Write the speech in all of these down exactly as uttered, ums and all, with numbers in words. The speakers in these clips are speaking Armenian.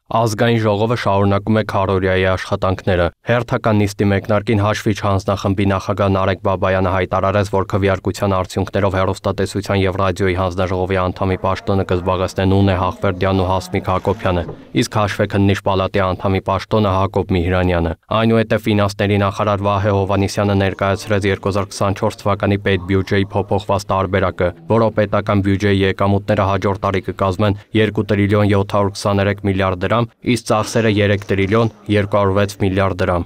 Ազգային ժողովը շարունակում է քարոզիայի աշխատանքները։ Հերթական նիստի մեկնարկին հաշվիչ հանձնախմբի նախագահ Նարեկ Բաբայանը հայտարարեց, որ քվեարկության արդյունքներով հեռուստատեսության եւ ռադիոյի հանձնաժողովի անդամի պաշտոնը կզբաղեցնեն Ունե Հաղվերդյանն ու Հասմիկ Հակոբյանը, իսկ հաշվեկննիչ պալատի անդամի պաշտոնը Հակոբ Միհրանյանը։ Այնուհետև ֆինանսների նախարար Վահե Հովհաննիսյանը ներկայացրեց երկու հազար քսանչորս թվականի պետբյուջեի փոփոխված տարբերակը, որով պետական բյուջեի եկամուտները հաջորդ տարի կկազմեն երկու տրիլիոն յոթ հարյուր քսաներեք միլիարդ դրամ, իսկ ծախսերը երեք տրիլիոն երկու հարյուր վեց միլիարդ դրամ։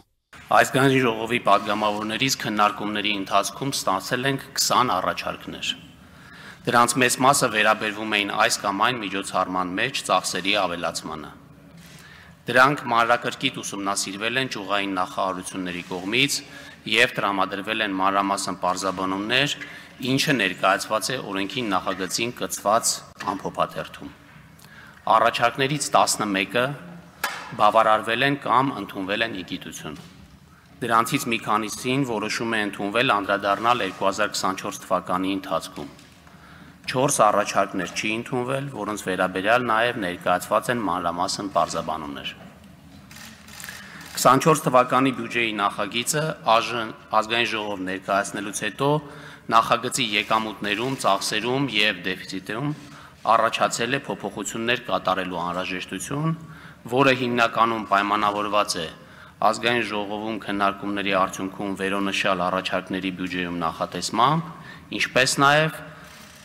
Ազգային ժողովի падգամավորներից քննարկումների ընթացքում ստացել ենք քսան առաջարկներ։ Դրանց մեծ մասը վերաբերվում էին այս կամ այն միջոցառման մեջ ծախսերի ավելացմանը։ Դրանք մանրակրկիտ ուսումնասիրվել են ճյուղային նախարարությունների կողմից եւ տրամադրվել են մանրամասն պարզաբանումներ, ինչը ներկայացված է օրենքի նախագծին կցված ամփոփաթերթում։ Առաջարկներից տասնմեկը բավարարվել են կամ ընդունվել են ի գիտություն։ Դրանցից մի քանիսին որոշում է ընդունվել անդրադառնալ երկու հազար քսանչորս թվականի ընթացքում։ Չորս առաջարկներ չի ընդունվել, որոնց վերաբերյալ նաև ներկայացված են մանրամասն պարզաբանումներ։ քսանչորս թվականի բյուջեի նախագիծը ազգային ժողով ներկայացնելուց հետո նախագծի եկամուտներում, ծախսերում եւ դեֆիցիտում առաջացել է փոփոխություններ կատարելու անհրաժեշտություն, որը հիմնականում պայմանավորված է ազգային ժողովում քննարկումների արդյունքում վերոնշյալ առաջարկների բյուջեում նախատեսմամբ, ինչպես նաև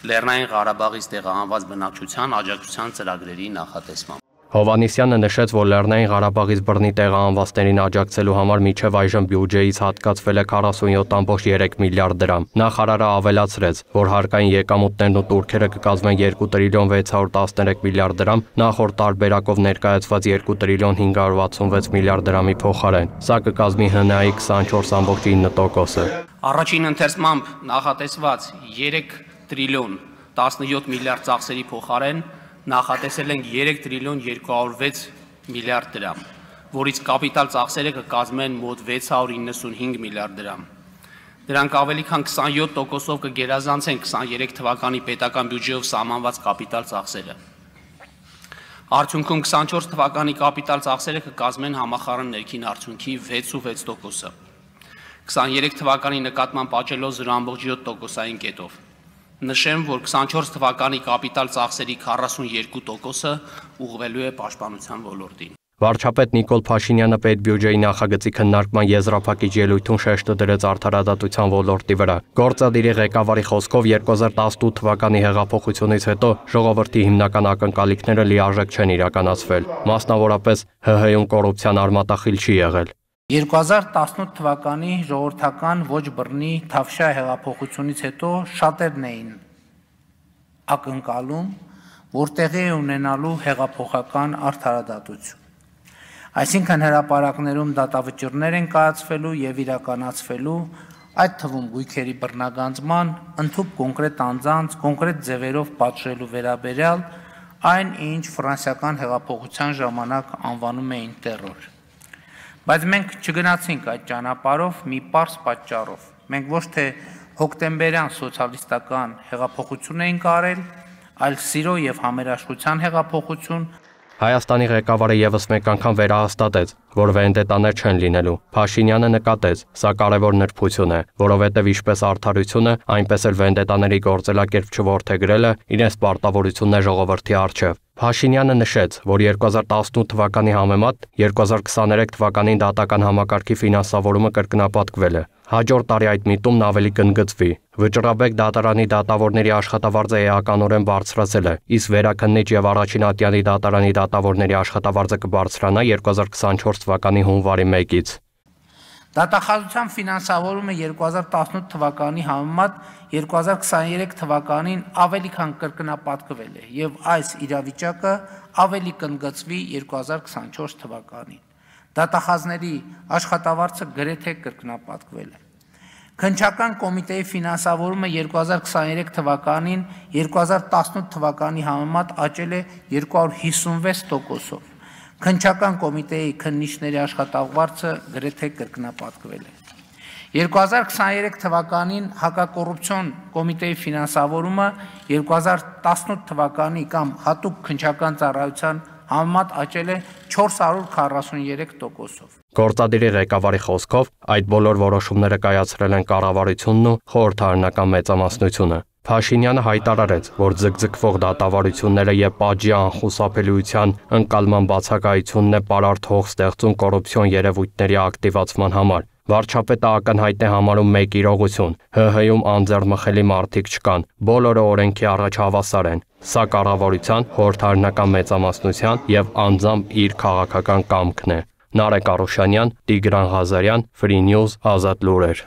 Լեռնային Ղարաբաղից տեղահանված բնակչության աջակցության ծրագրերի նախատեսմամբ։ Հովհաննիսյանը նշեց, որ Լեռնային Ղարաբաղից բռնի տեղահանվածներին աջակցելու համար մինչև այժմ բյուջեից հատկացվել է քառասունյոթ կόμma երեք միլիարդ դրամ։ Նախարարը ավելացրեց, որ հարկային եկամուտներն ու տուրքերը կկազմեն երկու տրիլիոն վեց հարյուր տասներեք միլիարդ դրամ, նախորդ տարբերակով ներկայացված երկու տրիլիոն հինգ հարյուր վաթսունվեց միլիարդ դրամի փոխարեն։ Սա կկազմի ՀՆԱ-ի քսանչորս կόμma ինը տոկոսը։ Առաջին ընթերցմամբ նախատեսված երեք տրիլիոն տասնյոթ միլիարդ ծախսերի փոխարեն նախատեսել ենք երեք տրիլիոն երկու հարյուր վեց միլիարդ դրամ, որից կապիտալ ծախսերը կկազմեն մոտ վեց հարյուր իննսունհինգ միլիարդ դրամ։ Դրանք ավելի քան քսանյոթ տոկոսով կգերազանցեն քսաներեք թվականի պետական բյուջեով սահմանված կապիտալ ծախսերը։ Արդյունքում քսանչորս թվականի կապիտալ ծախսերը կկազմեն համախառն ներքին արդյունքի վեցուվեց տոկոսը։ քսաներեք թվականի նկատմամբ աճելով զրո կόμma յոթ տոկոսային կետով։ Նշեմ, որ քսանչորս թվականի կապիտալ ծախսերի քառասունյոթ տոկոսը ուղղվելու է պաշտպանության ոլորտին։ Վարչապետ Նիկոլ Փաշինյանը պետբյուջեի նախագծի քննարկման եզրափակիչ ելույթում շեշտը դրեց արդարադատության ոլորտի վրա։ Գործադիրի ղեկավարի խոսքով երկու հազար տասնութ թվականի հեղափոխությունից հետո ժողովրդի հիմնական ակնկալիքները լիարժեք չեն իրականացվել, մասնավորապես ՀՀ-ում կոռուպցիան արմատախիլ չի եղել։ երկու հազար տասնութ թվականի ժողովրդական ոչ բռնի Թավշյա հեղափոխությունից հետո շատերն էին ակնկալում, որ տեղի է ունենալու հեղափոխական արդարադատություն։ Այսինքն հրապարակներում դատավճիռներ են կայացվելու եւ իրականացվելու, այդ թվում գույքերի բռնագանձման, ընդհանուր կոնկրետ անձանց, կոնկրետ ձևերով պատժելու վերաբերյալ այն, ինչ ֆրանսիական հեղափոխության ժամանակ անվանում էին տերոր։ Բայց մենք չգնացինք այդ ճանապարհով մի պարզ պատճառով։ Մենք ոչ թե հոկտեմբերյան սոցիալիստական հեղափոխություն էինք արել, այլ սիրո եւ համերաշխության հեղափոխություն։ Հայաստանի ղեկավարը եւս մեկ անգամ վերահաստատեց, որ վենդետաներ չեն լինելու։ Փաշինյանը նկատեց, սա կարևոր նրբություն է, որովհետեւ ինչպես արդարությունը, այնպես էլ վենդետաների գործելակերպ չորթեգրելը իրենց պարտավորությունն է ժողովրդի առջև։ Փաշինյանը նշեց, որ երկու հազար տասնութ թվականի համեմատ երկու հազար քսաներեք թվականին դատական համակարգի ֆինանսավորումը կրկնապատկվել է։ Հաջորդ տարի այդ միտումն ավելի կընդգծվի։ Վճռաբեկ դատարանի դատավորների աշխատավարձը էականորեն բարձրացել է, իսկ վերաքննիչ եւ առաջին ատյանի դատարանի դատավորների աշխատավարձը կբարձրանա երկու հազար քսանչորս թվականի հունվարի մեկից։ Դատախազության ֆինանսավորումը երկու հազար տասնութ թվականի համեմատ երկու հազար քսաներեք թվականին ավելի քան կրկնապատկվել է եւ այս իրավիճակը ավելի կընդգծվի երկու հազար քսանչորս թվականին։ Դատախազների աշխատավարձը գրեթե կրկնապատկվել է։ Քննչական կոմիտեի ֆինանսավորումը երկու հազար քսաներեք թվականին երկու հազար տասնութ թվականի համեմատ աճել է երկու հարյուր հիսունվեց տոկոսով։ Քննչական կոմիտեի քննիչների աշխատավարձը գրեթե կրկնապատկվել է։ երկու հազար քսաներեք թվականին հակակոռուպցիոն կոմիտեի ֆինանսավորումը երկու հազար տասնութ թվականի կամ հատուկ քննչական ծառայության համեմատ աճել է չորս հարյուր քառասուներեք տոկոսով։ Գործադիրի ղեկավարի խոսքով այդ բոլոր որոշումները կայացրել են կառավարությունն ու խորհրդարանական մեծամասնությունը։ Փաշինյանը հայտարարեց, որ ձգձգվող դատավարությունները եւ պատժի անխուսափելիության ընկալման բացակայությունն է պարարտ հող ստեղծում կոռուպցիոն երևույթների ակտիվացման համար։ Վարչապետը ակնհայտ է համարում մեկ իրողություն՝ ՀՀ-ում անձեռմխելի մարդիկ չկան, բոլորը օրենքի առաջ հավասար են։ Սա կառավարության, խորհրդարանական մեծամասնության եւ անձամբ իր քաղաքական կամքն է։ Նարեկ Արուշանյան, Տիգրան Ղազարյան, Free News, Ազատ լուրեր։